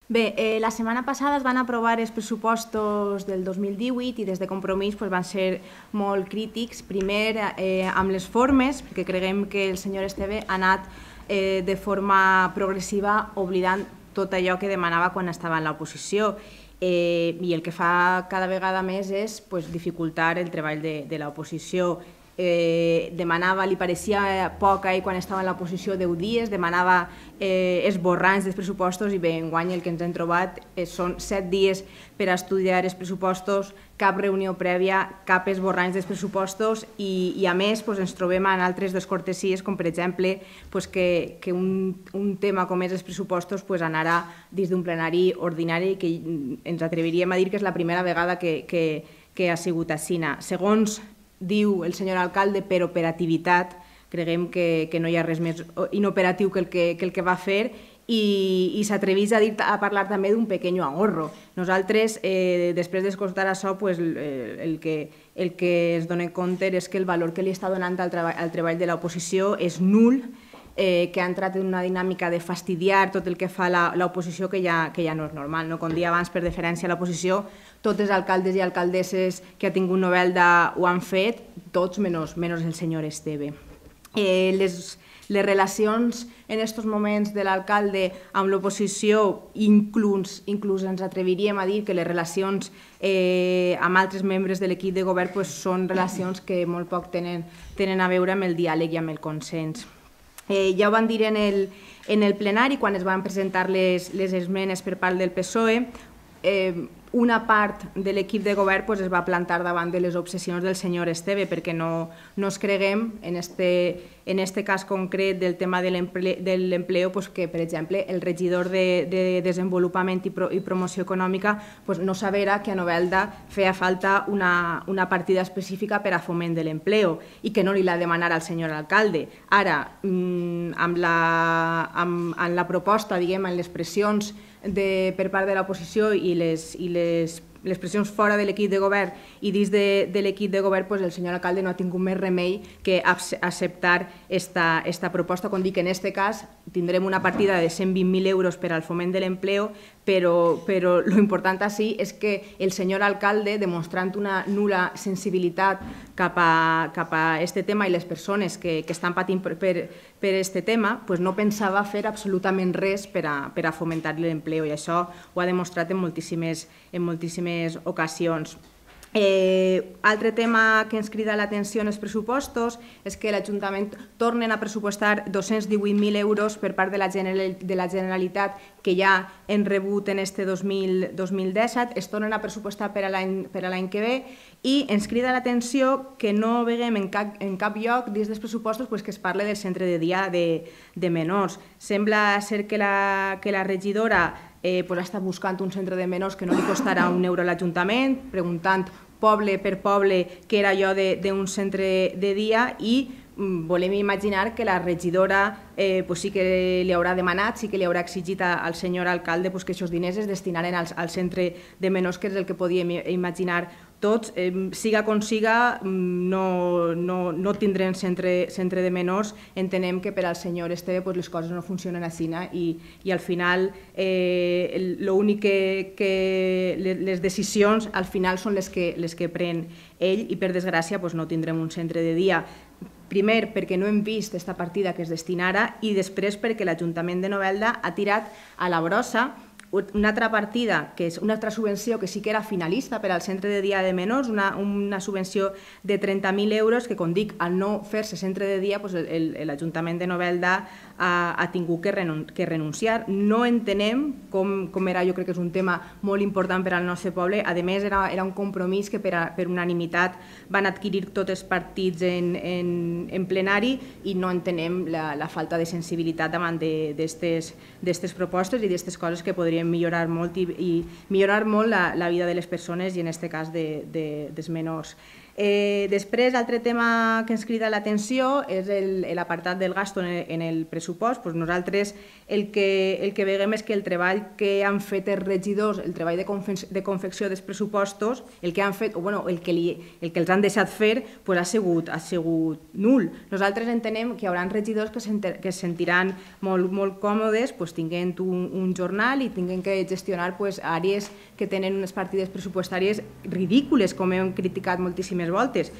Bé, la setmana passada es van aprovar els pressupostos del 2018 i des de Compromís van ser molt crítics. Primer, amb les formes, perquè creiem que el senyor Esteve ha anat de forma progressiva oblidant tot allò que demanava quan estava en l'oposició. I el que fa cada vegada més és dificultar el treball de l'oposició. Demanava, li pareixia poc a ell quan estava en l'oposició 10 dies, demanava esborranys dels pressupostos i bé, enguany el que ens hem trobat són 7 dies per a estudiar els pressupostos, cap reunió prèvia, cap esborranys dels pressupostos i a més ens trobem en altres descortesies com per exemple que un tema com és els pressupostos anarà dins d'un plenari ordinari que ens atreviríem a dir que és la primera vegada que ha sigut així. Segons diu el senyor alcalde, per operativitat, creiem que no hi ha res més inoperatiu que el que va fer i s'atreveix a parlar també d'un pequeño ahorro. Nosaltres, després d'escoltar això, el que es dona compte és que el valor que li està donant al treball de l'oposició és nul, que ha entrat en una dinàmica de fastidiar tot el que fa l'oposició que ja no és normal. Com dia abans, per deferència a l'oposició, tots els alcaldes i alcaldesses que ha tingut Novelda ho han fet, tots menys el senyor Esteve. Les relacions en aquests moments de l'alcalde amb l'oposició, inclús ens atreviríem a dir que les relacions amb altres membres de l'equip de govern són relacions que molt poc tenen a veure amb el diàleg i amb el consens. Ja ho van dir en el plenari quan es van presentar les esmenes per part del PSOE. Una part de l'equip de govern es va plantar davant de les obsessions del senyor Esteve perquè no es creguem, en este cas concret del tema de l'empleo, que, per exemple, el regidor de Desenvolupament i Promoció Econòmica no sabera que a Novelda feia falta una partida específica per a foment de l'empleo i que no li l'ha de demanar al senyor alcalde. Ara, amb la proposta, diguem, en les pressions per part de l'oposició i les pressions fora de l'equip de govern i dins de l'equip de govern, el senyor alcalde no ha tingut més remei que acceptar aquesta proposta. Com dic, en aquest cas tindrem una partida de 120.000 euros per al foment de l'empleo, però l'important així és que el senyor alcalde, demostrant una nul·la sensibilitat cap a aquest tema i les persones que estan patint per aquest tema, no pensava fer absolutament res per a fomentar l'empleo i això ho ha demostrat en moltíssimes ocasions. Altre tema que ens crida l'atenció en els pressupostos és que l'Ajuntament tornen a pressupostar 218.000 euros per part de la Generalitat que ja hem rebut en este 2017, es tornen a pressupostar per a l'any que ve i ens crida l'atenció que no veiem en cap lloc dins dels pressupostos que es parli del centre de dia de menors. Sembla ser que la regidora està buscant un centre de menors que no li costarà un euro a l'Ajuntament, preguntant poble per poble què era allò d'un centre de dia i volem imaginar que la regidora sí que li haurà demanat, sí que li haurà exigit al senyor alcalde que aquests diners es destinaren al centre de menors, que és el que podíem imaginar tots. Siga com siga, no tindrem centre de menors. Entenem que per al senyor Esteve les coses no funcionen així i al final l'únic que les decisions al final són les que pren ell i per desgràcia no tindrem un centre de dia. Primer, perquè no hem vist aquesta partida que es destinara i després perquè l'Ajuntament de Novelda ha tirat a la brossa una altra partida, que és una altra subvenció que sí que era finalista per al centre de dia de menors, una subvenció de 30.000 euros que, com dic, al no fer-se centre de dia, l'Ajuntament de Novelda ha tingut que renunciar. No entenem com era, jo crec que és un tema molt important per al nostre poble. A més, era un compromís que per unanimitat van adquirir tots els partits en plenari i no entenem la falta de sensibilitat davant d'aquestes propostes i d'aquestes coses que podrien millorar molt i millorar molt la vida de les persones i en aquest cas dels menors. Després, l'altre tema que ens crida l'atenció és l'apartat del gasto en el pressupost. Nosaltres el que veiem és que el treball que han fet els regidors, el treball de confecció dels pressupostos, el que han fet, o el que els han deixat fer, ha sigut nul. Nosaltres entenem que hi haurà regidors que es sentiran molt còmodes tinguent un jornal i tinguent que gestionar àrees que tenen unes partides pressupostàries ridícules, com hem criticat moltíssimes voltes,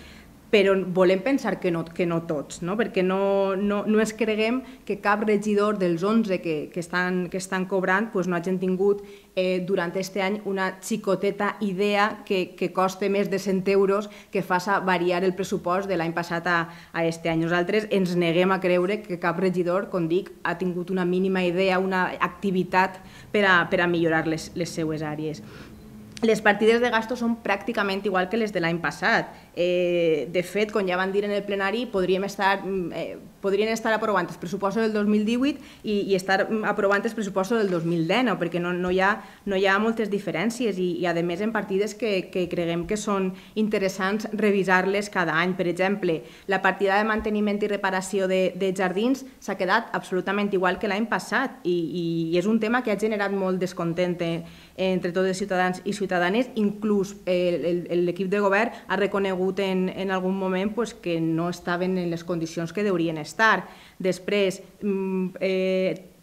però volem pensar que no tots, perquè no ens creguem que cap regidor dels 11 que estan cobrant no hagin tingut durant aquest any una xicoteta idea que costa més de 100 euros que faça variar el pressupost de l'any passat a aquest any. Nosaltres ens neguem a creure que cap regidor, com dic, ha tingut una mínima idea, una activitat per a millorar les seues àrees. Les partides de gasto són pràcticament igual que les de l'any passat. De fet, com ja van dir en el plenari, podrien estar aprovant els pressupostos del 2018 i estar aprovant els pressupostos del 2019, perquè no hi ha moltes diferències i, a més, en partides que creguem que són interessants revisar-les cada any. Per exemple, la partida de manteniment i reparació de jardins s'ha quedat absolutament igual que l'any passat i és un tema que ha generat molt descontent entre tots els ciutadans i ciutadanes. Inclús l'equip de govern ha reconegut en algun moment que no estaven en les condicions que deurien estar. Després,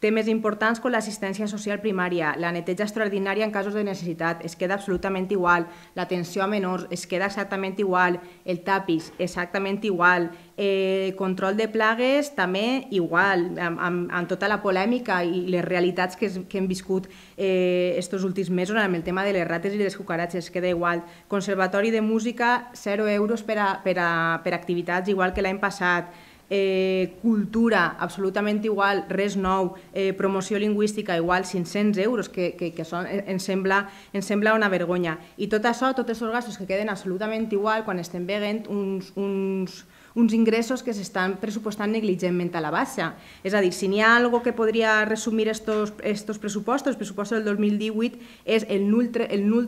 temes importants com l'assistència social primària, la neteja extraordinària en casos de necessitat, es queda absolutament igual, l'atenció a menors es queda exactament igual, el tapis exactament igual, control de plagues també igual, amb tota la polèmica i les realitats que hem viscut aquests últims mesos amb el tema de les rates i les cucaratges, es queda igual. Conservatori de música, 0 euros per a activitats igual que l'any passat. Cultura, absolutament igual, res nou. Promoció lingüística, igual, 500 euros, que ens sembla una vergonya. I tot això, tots els gastos que queden absolutament igual quan estem veient uns ingressos que s'estan pressupostant negligentment a la baixa. És a dir, si n'hi ha alguna cosa que podria resumir estos pressupostos, el pressupost del 2018 és el nul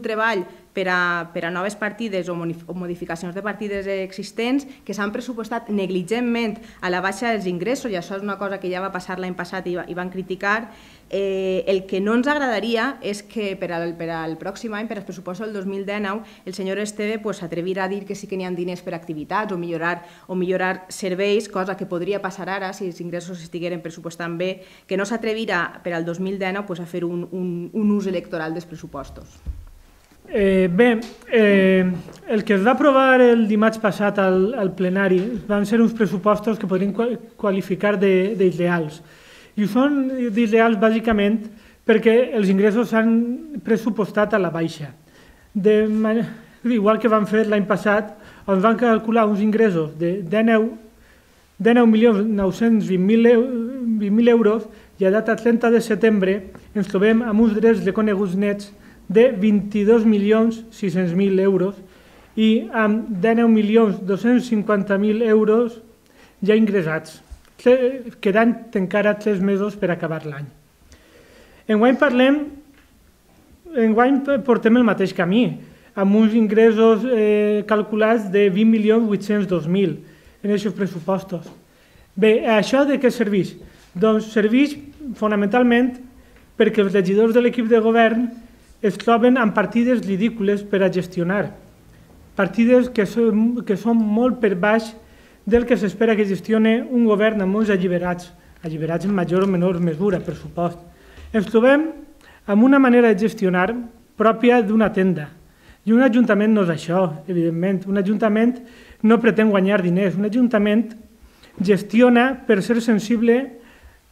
treball per a noves partides o modificacions de partides existents que s'han pressupostat negligentment a la baixa dels ingressos, i això és una cosa que ja va passar l'any passat i van criticar. El que no ens agradaria és que per al pròxim any, per als pressupostos del 2019, el senyor Esteve s'atrevirà a dir que sí que n'hi ha diners per a activitats o millorar serveis, cosa que podria passar ara si els ingressos estigueren pressupostant bé, que no s'atrevirà per al 2019 a fer un ús electoral dels pressupostos. Bé, el que es va aprovar el dimarts passat al plenari van ser uns pressupostos que podríem qualificar d'isleals. I són d'isleals bàsicament perquè els ingressos s'han pressupostat a la baixa. Igual que van fer l'any passat, on van calcular uns ingressos de 19.920.000 euros i a data 30 de setembre ens trobem amb uns drets reconeguts nets de 22.600.000 euros i amb 19.250.000 euros ja ingressats, quedant encara 3 mesos per acabar l'any. Enguany portem el mateix camí, amb uns ingressos calculats de 20.802.000 en aquests pressupostos. Bé, això de què serveix? Doncs serveix fonamentalment perquè els regidors de l'equip de govern es troben amb partides ridícules per a gestionar, partides que són molt per baix del que s'espera que gestioni un govern amb molts alliberats en major o menor mesura, per supost. Ens trobem amb una manera de gestionar pròpia d'una tenda. I un ajuntament no és això, evidentment. Un ajuntament no pretén guanyar diners. Un ajuntament gestiona per ser sensible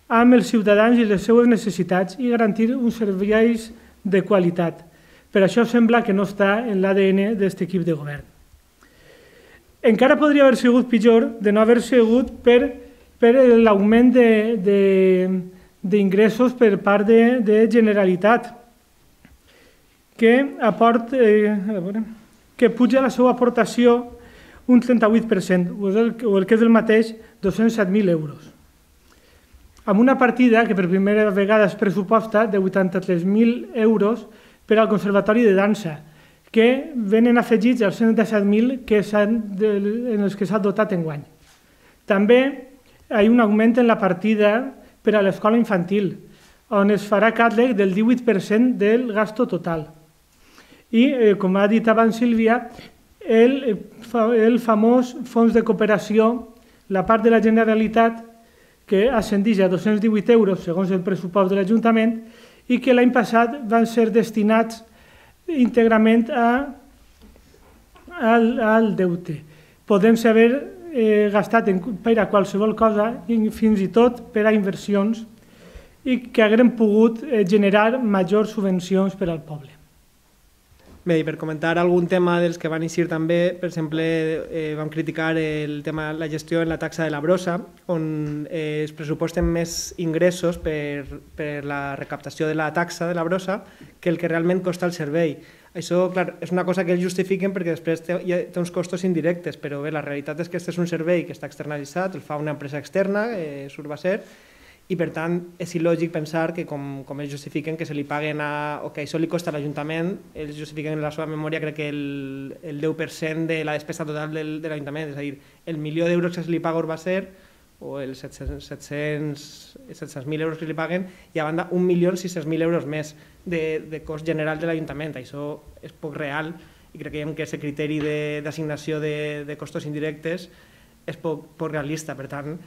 amb els ciutadans i les seues necessitats i garantir uns serveis de qualitat. Per això sembla que no està en l'ADN d'aquest equip de govern. Encara podria haver sigut pitjor de no haver sigut per l'augment d'ingressos per part de Generalitat, que puja la seva aportació un 38%, o el que és el mateix, 207.000 euros. Amb una partida que per primera vegada es pressuposta de 83.000 euros per al Conservatori de Dansa, que venen afegits als 117.000 en els que s'ha dotat enguany. També hi ha un augment en la partida per a l'escola infantil, on es farà càrrec del 18% del gasto total. I, com ha dit abans Sílvia, el famós fons de cooperació, la part de la Generalitat, que ascendeix a 218 euros segons el pressupost de l'Ajuntament i que l'any passat van ser destinats íntegrament al deute. Podem-se haver gastat per a qualsevol cosa, fins i tot per a inversions, i que haguem pogut generar majors subvencions per al poble. Bé, i per comentar algun tema dels que van eixir també, per exemple, vam criticar el tema la gestió en la taxa de la brossa, on es pressuposten més ingressos per la recaptació de la taxa de la brossa que el que realment costa el servei. Això, clar, és una cosa que ells justifiquen perquè després té uns costos indirectes, però bé, la realitat és que aquest és un servei que està externalitzat, el fa una empresa externa, Surbaser, i per tant és il·lògic pensar que com ells justifiquen que se li paguen o que això li costa a l'Ajuntament, ells justifiquen en la seva memòria crec que el 10% de la despesa total de l'Ajuntament, és a dir, el milió d'euros que se li paga a Urbaser o els 700.000 euros que li paguen i a banda 1.600.000 euros més de cost general de l'Ajuntament. Això és poc real i creiem que aquest criteri d'assignació de costos indirectes és poc realista. Per tant,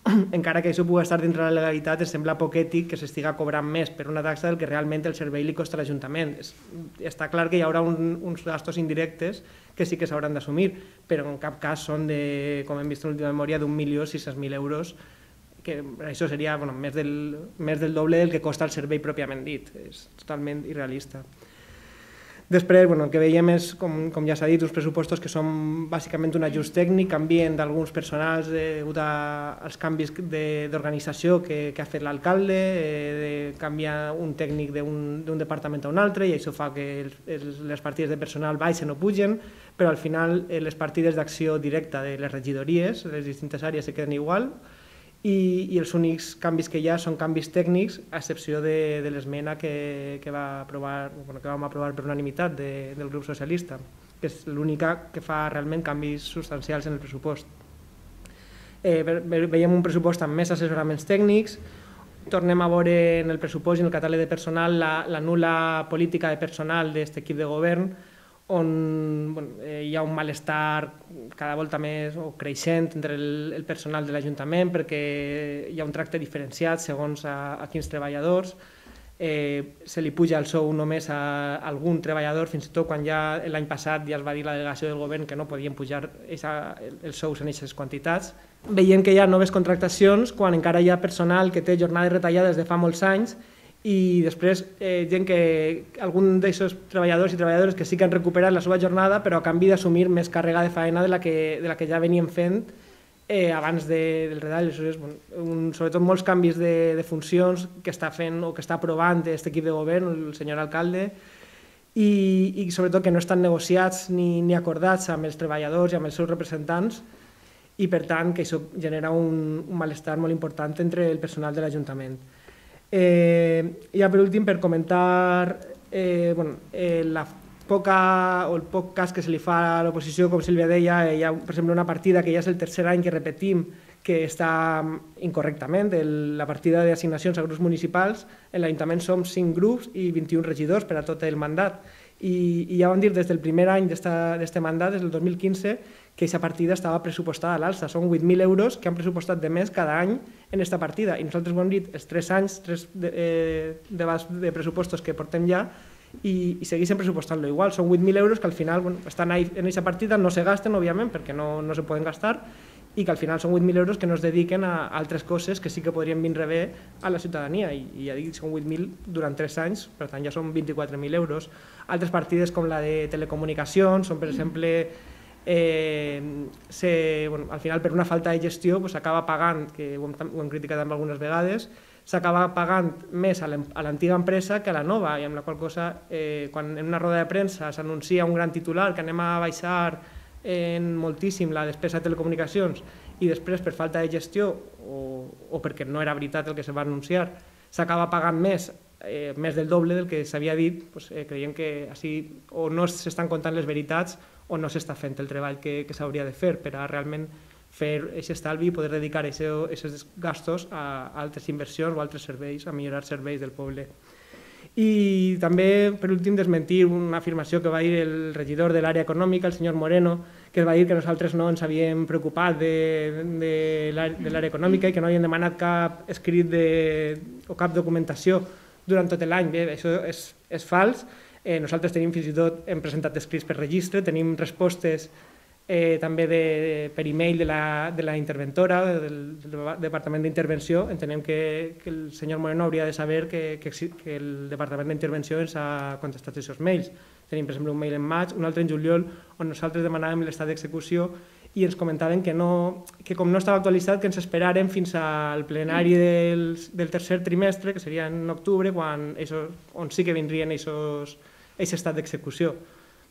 encara que això pugui estar dintre de la legalitat, ens sembla poc ètic que s'estiga cobrant més per una taxa del que realment el servei li costa a l'Ajuntament. Està clar que hi haurà uns gastos indirectes que sí que s'hauran d'assumir, però en cap cas són, com hem vist en l'última memòria, d'1.600.000 euros, que això seria més del doble del que costa el servei pròpiament dit. És totalment irrealista. Després, el que veiem és, com ja s'ha dit, uns pressupostos que són bàsicament un ajust tècnic, canvien d'alguns personals degut als canvis d'organització que ha fet l'alcalde, canvia un tècnic d'un departament a un altre i això fa que les partides de personal baixen o pugen, però al final les partides d'acció directa de les regidories, de les distintes àrees, se queden igual i els únics canvis que hi ha són canvis tècnics, a excepció de l'esmena que vam aprovar per unanimitat del grup socialista, que és l'única que fa realment canvis substancials en el pressupost. Veiem un pressupost amb més assessoraments tècnics, tornem a veure en el pressupost i en el catàleg de personal la nul·la política de personal d'aquest equip de govern, on hi ha un malestar cada volta més creixent entre el personal de l'Ajuntament perquè hi ha un tracte diferenciat segons a quins treballadors, se li puja el sou només a algun treballador, fins i tot quan ja l'any passat ja es va dir la delegació del govern que no podien pujar els sous en aquestes quantitats. Veiem que hi ha noves contractacions quan encara hi ha personal que té jornades retallades de fa molts anys i després gent algun d'aquests treballadors i treballadores que sí que han recuperat la seva jornada però a canvi d'assumir més càrrega de faena de la que ja venien fent abans del retall. Sobretot molts canvis de funcions que està fent o que està aprovant aquest equip de govern, el senyor alcalde, i sobretot que no estan negociats ni acordats amb els treballadors i amb els seus representants i per tant que això genera un malestar molt important entre el personal de l'Ajuntament. Ja per últim, per comentar el poc cas que se li fa a l'oposició, com Sílvia deia, hi ha per exemple una partida que ja és el tercer any que repetim que està incorrectament, la partida d'assignacions a grups municipals, en l'Ajuntament som 5 grups i 21 regidors per a tot el mandat i ja vam dir des del primer any d'aquest mandat, des del 2015, que aquesta partida estava pressupostada a l'alça. Són 8.000 euros que han pressupostat de més cada any en aquesta partida i nosaltres ho hem dit els 3 anys, 3 debats de pressupostos que portem ja i segueixen pressupostant-lo igual. Són 8.000 euros que al final estan en aquesta partida, no se gasten, òbviament, perquè no se poden gastar i que al final són 8.000 euros que no es dediquen a altres coses que sí que podrien vindre bé a la ciutadania i ja dic, són 8.000 durant 3 anys, per tant ja són 24.000 euros. Altres partides com la de telecomunicacions són, per exemple, al final per una falta de gestió s'acaba pagant, que ho hem criticat algunes vegades, s'acaba pagant més a l'antiga empresa que a la nova i amb la qual cosa quan en una roda de premsa s'anuncia un gran titular que anem a baixar moltíssim la despesa de telecomunicacions i després per falta de gestió o perquè no era veritat el que se va anunciar s'acaba pagant més més del doble del que s'havia dit, creiem que així o no s'estan contant les veritats o no s'està fent el treball que s'hauria de fer per a realment fer aquest estalvi i poder dedicar aquests gastos a altres inversions o altres serveis, a millorar serveis del poble. I també, per últim, desmentir una afirmació que va dir el regidor de l'àrea econòmica, el senyor Moreno, que va dir que nosaltres no ens havíem preocupat de l'àrea econòmica i que no havíem demanat cap escrit o cap documentació durant tot l'any. Bé, això és fals. Nosaltres tenim fins i tot, hem presentat escrits per registre, tenim respostes també per e-mail de la interventora, del Departament d'Intervenció. Entenem que el senyor Moreno hauria de saber que el Departament d'Intervenció ens ha contestat aquests mails. Tenim, per exemple, un mail en maig, un altre en juliol, on nosaltres demanàvem l'estat d'execució i ens comentaven que com no estava actualitzat, que ens esperàrem fins al plenari del tercer trimestre, que seria en octubre, on sí que vindrien aquest estat d'execució.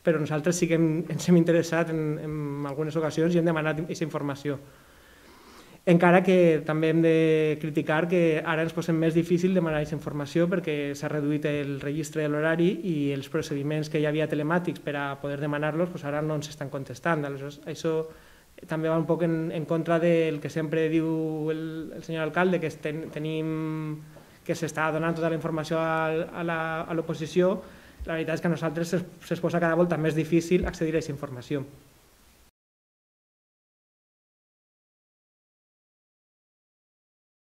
Però nosaltres sí que ens hem interessat en algunes ocasions i hem demanat aquesta informació. Encara que també hem de criticar que ara ens posem més difícil demanar aquesta informació perquè s'ha reduït el registre de l'horari i els procediments que hi havia telemàtics per a poder demanar-los ara no ens estan contestant. Aleshores, això també va un poc en contra del que sempre diu el senyor alcalde, que que s'està donant tota la informació a l'oposició. La veritat és que a nosaltres se'ns posa cada volta més difícil accedir a aquesta informació.